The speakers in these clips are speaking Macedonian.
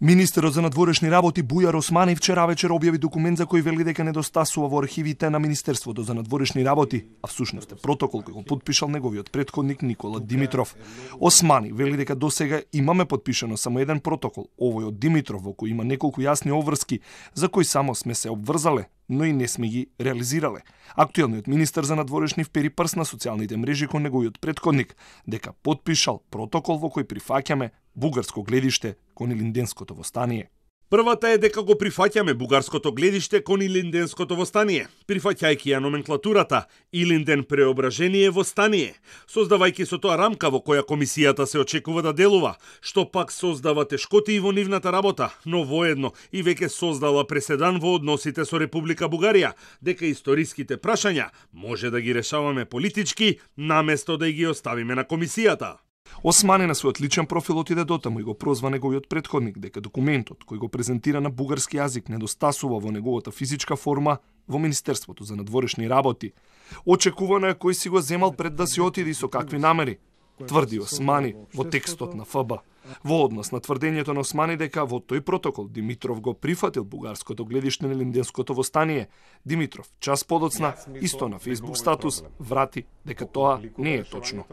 Министерот за надворешни работи Бујар Османи вчера вечер објави документ за кој вели дека недостасува во архивите на Министерството за надворешни работи, а всушност е протокол кој го потпишал неговиот претходник Никола Димитров. Османи вели дека досега имаме подпишано само еден протокол, овој од Димитров, во кој има неколку јасни обврски за кои само сме се обврзале, но и не сме ги реализирале. Актуелниот министер за надворешни впери прст на социјалните мрежи кон неговиот претходник дека потпишал протокол во кој прифаќаме бугарско гледиште кон Илинденското востание. Првата е дека го прифаќаме бугарското гледиште кон Илинденското востание, прифаќајќи ја номенклатурата Илинден преображение востание, создавајќи со тоа рамка во која комисијата се очекува да делува, што пак создава тешкоти и во нивната работа, но воедно и веќе создала преседан во односите со Република Бугарија, дека историските прашања може да ги решаваме политички, наместо да ги оставиме на комисијата. Османи на својот личен профил отиде дотаму и го прозва неговиот претходник дека документот кој го презентира на бугарски јазик недостасува во неговата физичка форма во Министерството за надворешни работи. Очекувано е кој си го земал пред да си отиде и со какви намери, тврди Османи во текстот на ФБ. Во однос на тврдењето на Османи дека во тој протокол Димитров го прифатил бугарското гледиште на Илинденското востание, Димитров час подоцна исто на Facebook статус врати дека тоа не е точно.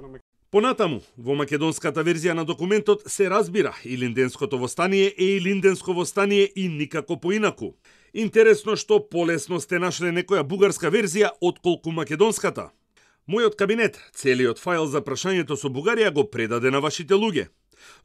Понатаму, во македонската верзија на документот се разбира Илинденското востание е Илинденско востание и никако поинаку. Интересно што полесно сте нашле некоја бугарска верзија отколку македонската. Мојот кабинет целиот файл за прашањето со Бугарија го предаде на вашите луѓе.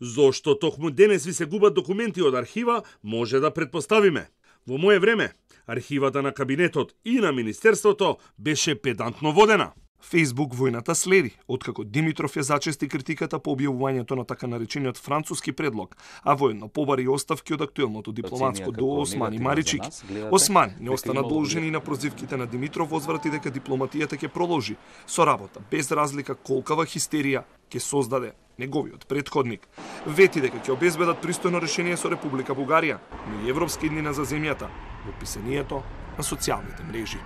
Зошто токму денес ви се губат документи од архива, може да предпоставиме. Во моје време, архивата на кабинетот и на Министерството беше педантно водена. Facebook војната следи, откако Димитров ја зачести критиката по објавувањето на така наречениот француски предлог, а воедно побари оставки од актуелното дипломатско дуо Османи Маричик. Османи не остана должен и на прозивките на Димитров возврати дека дипломатијата ќе продолжи со работа, без разлика колкава хистерија ќе создаде неговиот претходник. Вети дека ќе обезбедат пристојно решение со Република Бугарија, но и европски иднина за земјата во писанието на социјалните мрежи.